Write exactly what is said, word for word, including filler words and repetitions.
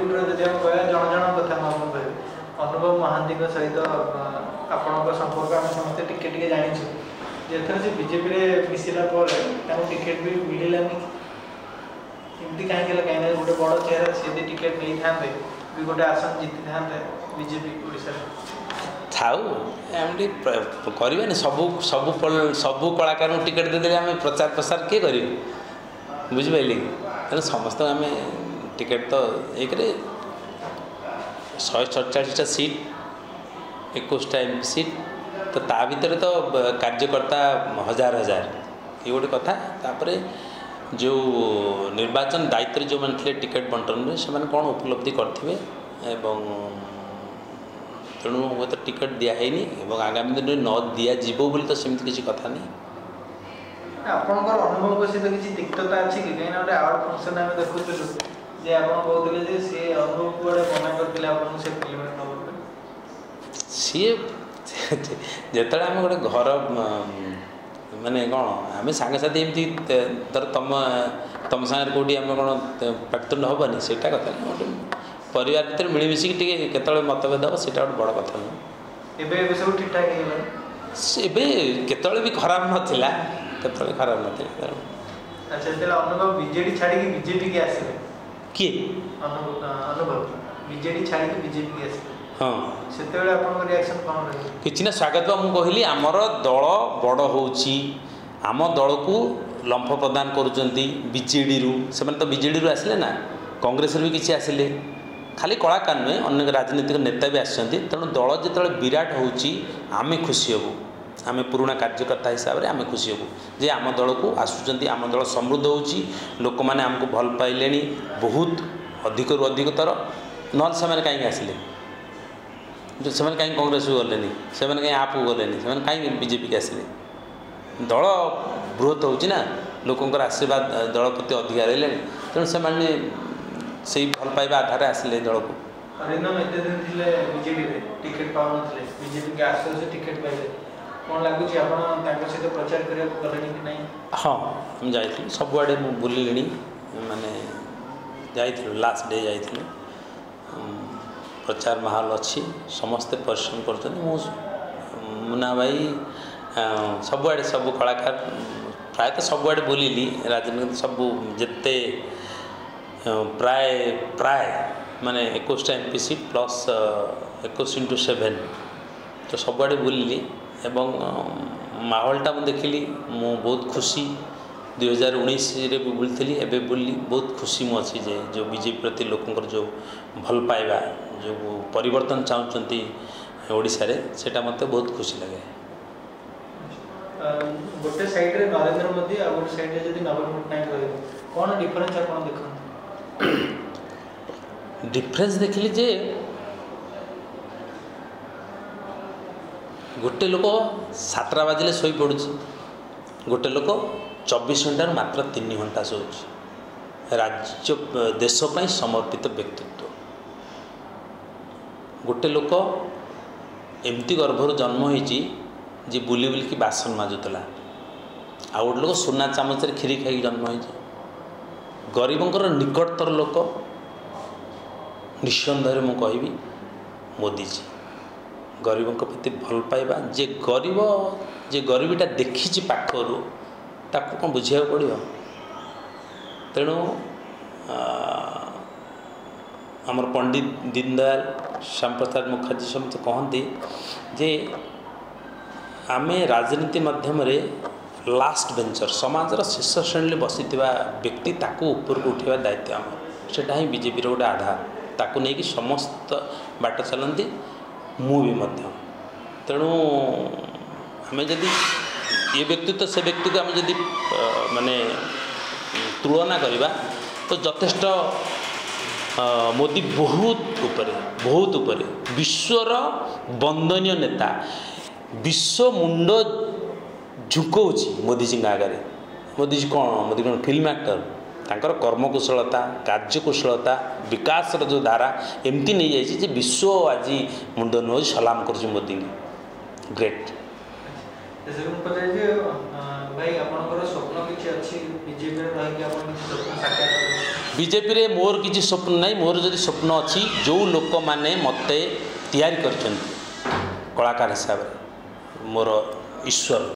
ଟଲିଉଡର ଯଦି ଆମେ କହିବା ଜଣ ଜଣଙ୍କ କଥା ମୁଁ ଆପଣଙ୍କୁ କହିବି ଅନୁଭବ ମହାନ୍ତିଙ୍କ ସହିତ ଅ, ଆପଣଙ୍କ ସମ୍ପର୍କ ଆମେ ସମସ୍ତେ ଟିକେ ଟିକେ ଜାଣିଛୁ ଯେ ଏଥର ସେ ବିଜେପିରେ ମିଶିଲା ପରେ ତାଙ୍କୁ ଟିକେଟ୍ ବି ମିଳିଲାନି ଏମିତି କାହିଁକି ହେଲା କାହିଁକି ନା ଗୋଟେ ବଡ଼ ଚେହେରା ସେ ଯଦି ଟିକେଟ୍ ନେଇଥାନ୍ତେ ବି ଗୋଟେ ଆସନ ଜିତିଥାନ୍ତେ ବିଜେପି ଓଡ଼ିଶାରେ ଥାଉ ଆମେ ଟିକେ ପ୍ର- କରିବାନି ସବୁ ସବୁ ପଲ- ସବୁ କଳାକାରଙ୍କୁ ଟିକେଟ୍ ଦେଇଦେଲେ ଆମେ ପ୍ରଚାର ପ୍ରସାର କିଏ କରିବେ ବୁଝିପାରିଲେ କି ତେଣୁ ସମସ୍ତଙ୍କୁ ଆମେ ଟିକେଟ୍ ତ ଏକରେ ଶହେ ସତଚାଳିଶଟା ସିଟ୍ ଏକୋଇଶଟା ଏମ୍ ପି ସିଟ୍ ତ ତା ଭିତରେ ତ ବ- କାର୍ଯ୍ୟକର୍ତ୍ତା ହଜାର ହଜାର ଇଏ ଗୋଟେ କଥା ତାପରେ ଯେଉଁ ନିର୍ବାଚନ ଦାୟିତ୍ୱରେ ଯେଉଁମାନେ ଥିଲେ ଟିକେଟ୍ ବଣ୍ଟନରେ ସେମାନେ କ'ଣ ଉପଲବ୍ଧି କରିଥିବେ ଏବଂ ତେଣୁ ହୁଏତ ଟିକେଟ୍ ଦିଆହେଇନି ଏବଂ ଆଗାମୀ ଦିନରେ ନ ଦିଆଯିବ ବୋଲି ତ ସେମିତି କିଛି କଥା ନାହିଁ ଆପଣଙ୍କର ଅନୁଭବଙ୍କ ସହିତ କିଛି ତିକ୍ତତା ଅଛି କି କାହିଁକିନା ଗୋଟେ ଆୱାର୍ଡ ଫଙ୍କସନ୍ ଆମେ ଦେଖୁଥିଲୁ ଯେ ଆପଣ କହୁଥିଲେ ଯେ ସିଏ ଅନୁଭବ କୁଆଡ଼େ ମନା କରିଥିଲେ ଆପଣଙ୍କୁ ସେ ଫିଲ୍ମରେ ନେବା ପାଇଁ ସିଏ ଯେତେବେଳେ ଆମେ ଗୋଟେ ଘର ମାନେ କ'ଣ ଆମେ ସାଙ୍ଗସାଥି ଏମିତି ଧର ତମ ତମ ସାଙ୍ଗରେ କେଉଁଠି ଆମେ କ'ଣ ପାଟିତୁଣ୍ଡ ହେବନି ସେଇଟା କଥା ନୁହେଁ ଗୋଟେ ପରିବାର ଭିତରେ ମିଳିମିଶିକି ଟିକେ କେତେବେଳେ ମତଭେଦ ହେବ ସେଇଟା ଗୋଟେ ବଡ଼ କଥା ନୁହେଁ ଏବେ ଏବେ ସବୁ ଠିକ୍ ଠାକ୍ ହେଇଗଲାଣି ଏବେ କେତେବେଳେ ବି ଖରାପ ନଥିଲା କେତେବେଳେ ଖରାପ ନଥିଲା ତେଣୁ ଆଚ୍ଛା ଯେତେବେଳେ ଅନୁଭବ ବିଜେଡି ଛାଡ଼ିକି ବିଜେପିକି ଆସିଲେ କିଏ ଅନୁଭବ ଅନୁଭବ ବିଜେଡି ଛାଡ଼ିକି ବିଜେପିକି ଆସିଲେ ହଁ ସେତେବେଳେ ଆପଣଙ୍କ ରିଆକ୍ସନ୍ କ'ଣ ରହିବ କିଛି ନା ସ୍ୱାଗତ ବା ମୁଁ କହିଲି ଆମର ଦଳ ବଡ଼ ହେଉଛି ଆମ ଦଳକୁ ଲମ୍ଫ ପ୍ରଦାନ କରୁଛନ୍ତି ବିଜେଡ଼ିରୁ ସେମାନେ ତ ବିଜେଡ଼ିରୁ ଆସିଲେ ନା କଂଗ୍ରେସରୁ ବି କିଛି ଆସିଲେ ଖାଲି କଳାକାର ନୁହେଁ ଅନେକ ରାଜନୈତିକ ନେତା ବି ଆସିଛନ୍ତି ତେଣୁ ଦଳ ଯେତେବେଳେ ବିରାଟ ହେଉଛି ଆମେ ଖୁସି ହେବୁ ଆମେ ପୁରୁଣା କାର୍ଯ୍ୟକର୍ତ୍ତା ହିସାବରେ ଆମେ ଖୁସି ହେବୁ ଯେ ଆମ ଦଳକୁ ଆସୁଛନ୍ତି ଆମ ଦଳ ସମୃଦ୍ଧ ହେଉଛି ଲୋକମାନେ ଆମକୁ ଭଲ ପାଇଲେଣି ବହୁତ ଅଧିକରୁ ଅଧିକତର ନହେଲେ ସେମାନେ କାହିଁକି ଆସିଲେ ସେମାନେ କାହିଁକି କଂଗ୍ରେସକୁ ଗଲେନି ସେମାନେ କାହିଁ ଆପକୁ ଗଲେନି ସେମାନେ କାହିଁକି ବିଜେପିକି ଆସିଲେ ଦଳ ବୃହତ ହେଉଛି ନା ଲୋକଙ୍କର ଆଶୀର୍ବାଦ ଦଳ ପ୍ରତି ଅଧିକା ରହିଲେଣି ତେଣୁ ସେମାନେ ସେଇ ଭଲ ପାଇବା ଆଧାରରେ ଆସିଲେ ଦଳକୁ ଅରିନ୍ଦମ ଏତେ ଦିନ ଥିଲେ ବିଜେଡିରେ ଟିକେଟ୍ ପାଉନଥିଲେ ବିଜେପିକି ଆସୁ ଆସୁ ଟିକେଟ୍ ପାଇଲେ କ'ଣ ଲାଗୁଛି ଆପଣ ତାଙ୍କ ସହିତ ପ୍ରଚାର କରିବାକୁ ଗଲେଣି କି ନାହିଁ ହଁ ଆମେ ଯାଇଥିଲୁ ସବୁଆଡ଼େ ମୁଁ ବୁଲିଲିଣି ମାନେ ଯାଇଥିଲୁ ଲାଷ୍ଟ ଡେ ଯାଇଥିଲୁ ପ୍ରଚାର ମାହୋଲ ଅଛି ସମସ୍ତେ ପରିଶ୍ରମ କରୁଛନ୍ତି ମୁଁ ମୁନା ଭାଇ ସବୁଆଡ଼େ ସବୁ କଳାକାର ପ୍ରାୟତଃ ସବୁଆଡ଼େ ବୁଲିଲି ରାଜନୀତି ସବୁ ଯେତେ ପ୍ରାୟ ପ୍ରାୟ ମାନେ ଏକୋଇଶଟା ଏମ୍ ପି ସିଟ୍ ପ୍ଲସ୍ ଏକୋଇଶ ଇଣ୍ଟୁ ସେଭେନ୍ ତ ସବୁଆଡ଼େ ବୁଲିଲି ଏବଂ ମାହୋଲଟା ମୁଁ ଦେଖିଲି ମୁଁ ବହୁତ ଖୁସି ଦୁଇହଜାର ଉଣେଇଶରେ ବି ବୁଲିଥିଲି ଏବେ ବୁଲିଲି ବହୁତ ଖୁସି ମୁଁ ଅଛି ଯେ ଯେଉଁ ବିଜେପି ପ୍ରତି ଲୋକଙ୍କର ଯେଉଁ ଭଲ ପାଇବା ଯେଉଁ ପରିବର୍ତ୍ତନ ଚାହୁଁଛନ୍ତି ଓଡ଼ିଶାରେ ସେଇଟା ମୋତେ ବହୁତ ଖୁସି ଲାଗେ ଗୋଟେ ସାଇଡ଼୍ରେ ନରେନ୍ଦ୍ର ମୋଦି ଆଉ ଗୋଟେ ସାଇଡ଼୍ରେ ଯଦି ନବୀନ ପଟ୍ଟନାୟକ ରହିବେ କ'ଣ ଡିଫରେନ୍ସ ଆପଣ ଦେଖନ୍ତି ଡିଫରେନ୍ସ ଦେଖିଲି ଯେ ଗୋଟେ ଲୋକ ସାତଟା ବାଜିଲେ ଶୋଇପଡ଼ୁଛି ଗୋଟେ ଲୋକ ଚବିଶ ଘଣ୍ଟାରୁ ମାତ୍ର ତିନି ଘଣ୍ଟା ଶୋଉଛି ରାଜ୍ୟ ଦେଶ ପାଇଁ ସମର୍ପିତ ବ୍ୟକ୍ତିତ୍ୱ ଗୋଟେ ଲୋକ ଏମିତି ଗର୍ଭରୁ ଜନ୍ମ ହେଇଛି ଯେ ବୁଲି ବୁଲିକି ବାସନ ମାଜୁଥିଲା ଆଉ ଗୋଟେ ଲୋକ ସୁନା ଚାମଚରେ କ୍ଷୀରି ଖାଇକି ଜନ୍ମ ହେଇଛି ଗରିବଙ୍କର ନିକଟତର ଲୋକ ନିଃସନ୍ଦେହରେ ମୁଁ କହିବି ମୋଦିଜୀ ଗରିବଙ୍କ ପ୍ରତି ଭଲ ପାଇବା ଯେ ଗରିବ ଯେ ଗରିବୀଟା ଦେଖିଛି ପାଖରୁ ତାକୁ କ'ଣ ବୁଝିବାକୁ ପଡ଼ିବ ତେଣୁ ଆମର ପଣ୍ଡିତ ଦୀନଦୟାଲ ଶ୍ୟାମପ୍ରସାଦ ମୁଖାର୍ଜୀ ସମସ୍ତେ କହନ୍ତି ଯେ ଆମେ ରାଜନୀତି ମାଧ୍ୟମରେ ଲାଷ୍ଟ ବେଞ୍ଚର ସମାଜର ଶେଷ ଶ୍ରେଣୀରେ ବସିଥିବା ବ୍ୟକ୍ତି ତାକୁ ଉପରକୁ ଉଠାଇବା ଦାୟିତ୍ୱ ଆମର ସେଇଟା ହିଁ ବିଜେପିର ଗୋଟେ ଆଧାର ତାକୁ ନେଇକି ସମସ୍ତ ବାଟ ଚାଲନ୍ତି ମୁଁ ବି ମଧ୍ୟ ତେଣୁ ଆମେ ଯଦି ଏ ବ୍ୟକ୍ତିତ୍ୱ ସେ ବ୍ୟକ୍ତିକୁ ଆମେ ଯଦି ମାନେ ତୁଳନା କରିବା ତ ଯଥେଷ୍ଟ ମୋଦି ବହୁତ ଉପରେ ବହୁତ ଉପରେ ବିଶ୍ୱର ବନ୍ଦନୀୟ ନେତା ବିଶ୍ୱ ମୁଣ୍ଡ ଝୁକଉଛି ମୋଦିଜୀଙ୍କ ଆଗରେ ମୋଦିଜୀ କ'ଣ ମୋଦି କ'ଣ ଫିଲ୍ମ ଆକ୍ଟର ତାଙ୍କର କର୍ମକୁଶଳତା କାର୍ଯ୍ୟକୁଶଳତା ବିକାଶର ଯେଉଁ ଧାରା ଏମିତି ନେଇଯାଇଛି ଯେ ବିଶ୍ୱ ଆଜି ମୁଣ୍ଡ ନୁହଁ ସଲାମ କରୁଛି ମୋଦିଙ୍କୁ ଗ୍ରେଟ୍ ଶେଷରେ ମୁଁ ପଚାରିଛି ଭାଇ, ଆପଣଙ୍କର ସ୍ୱପ୍ନ କିଛି ଅଛି? ବିଜେପିରେ ରହିକି ଆପଣ କିଛି ସ୍ୱପ୍ନ ସାକାର କରିବେ? ବିଜେପିରେ ମୋର କିଛି ସ୍ୱପ୍ନ ନାହିଁ। ମୋର ଯଦି ସ୍ୱପ୍ନ ଅଛି, ଯେଉଁ ଲୋକମାନେ ମୋତେ ତିଆରି କରିଛନ୍ତି କଳାକାର ହିସାବରେ, ମୋର ଈଶ୍ୱର।